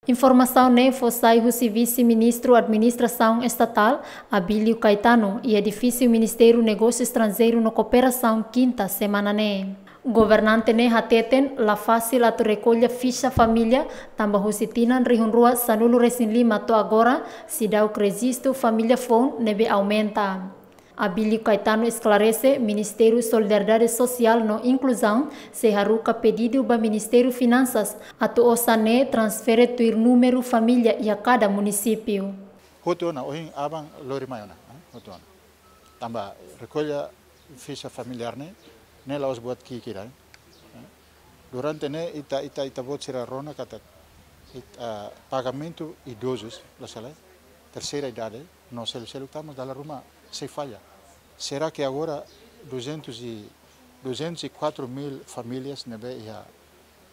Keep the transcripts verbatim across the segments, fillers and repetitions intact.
Informasaun ne'e fó sai husi Vise-Ministru Administrasaun Estatál, Abílio Caetano, iha edifísiu Ministériu Negósiu Estranjeiru no Kooperasaun, kinta semana ne'e. Governante ne'e hateten la fasil atu rekolla fixa família, tanba husi tinan rihun rua sanulu resin lima to'o agora, seidauk rejistu família foun ne'ebé aumenta. Abílio Caetano esklarese, Ministériu Solidariedade Sosiál no Inkluzaun sei haruka pedidu ba Ministériu Finansas atu osan ne'e transfere tuir númeru família iha kada munisípiu. Hotu ona, ohin aban lori mai ona, eh, hotu ona. Tanba rekolla fixa familiár ne'e, ne'e la'ós buat ki'ik ida, eh. Durante ne'e ita, ita, ita-boot sira rona katak it-, ah, pagamentu idozus, la sala, terseira idade, no selu-seluk tama dala ruma sei falla. Será que agora duzentos e, duzentos e quatro mil famílias ne'ebé iha,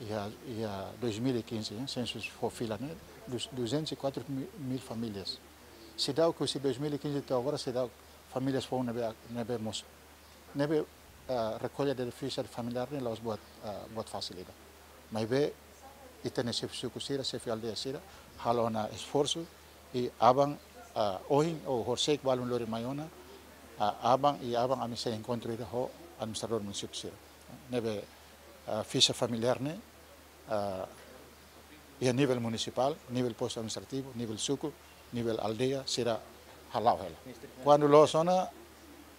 iha, iha dois mil e quinze, eh, sensu fó fila ne'e, dus-, duzentos e quatro mil famílias. Seidauk husi dois mil e quinze to'o agora, seidauk famílias foun ne'ebé, ne'ebé mosu. Ne'ebé, ah, rekolla de fixa familiár ne'e la'ós buat, ah, buat fasil ida. Maibé, ita-nia xefe suku sira, xefe aldeia sira, halo ona esforsu, i aban, ah, ohin, ou horisehik balun lori mai ona, ah, aban, i aban ami sei enkontru ida ho administradór munisípiu sira. Ne'ebé, ah, fixa familiár ne'e, ah, iha nivel munisipál, nivel postu administrativu, nivel suku, nivel aldeia, sira hala'o hela. Kuandu loos ona,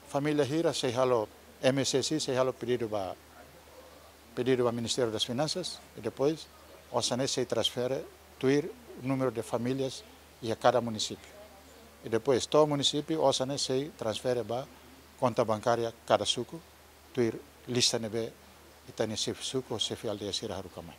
família hira sei halo, M S S I sei halo pedidu ba, pedidu ba Ministériu das Finansas, i depois osan ne'e sei transfere tuir númeru de famílias iha kada munisípiu. I depois to'o munisípiu, osan ne'e sei transfere ba konta bankária kada suku, tuir lista ne'ebé ita-nia xefe suku, xefe aldeia sira haruka mai.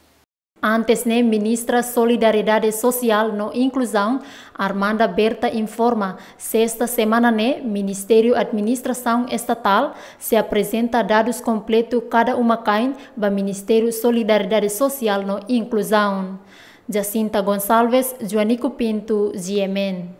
Antes ne'e, Ministra Solidariedade Sosiál no Inkluzaun, Armanda Berta, informa, sesta semana ne'e, Ministériu Administrasaun Estatál sei aprezenta dadus kompletu kada uma-kain ba Ministériu Solidariedade Sosiál no Inkluzaun. Jacinta Gonçalves, Joanico Pinto, G M N.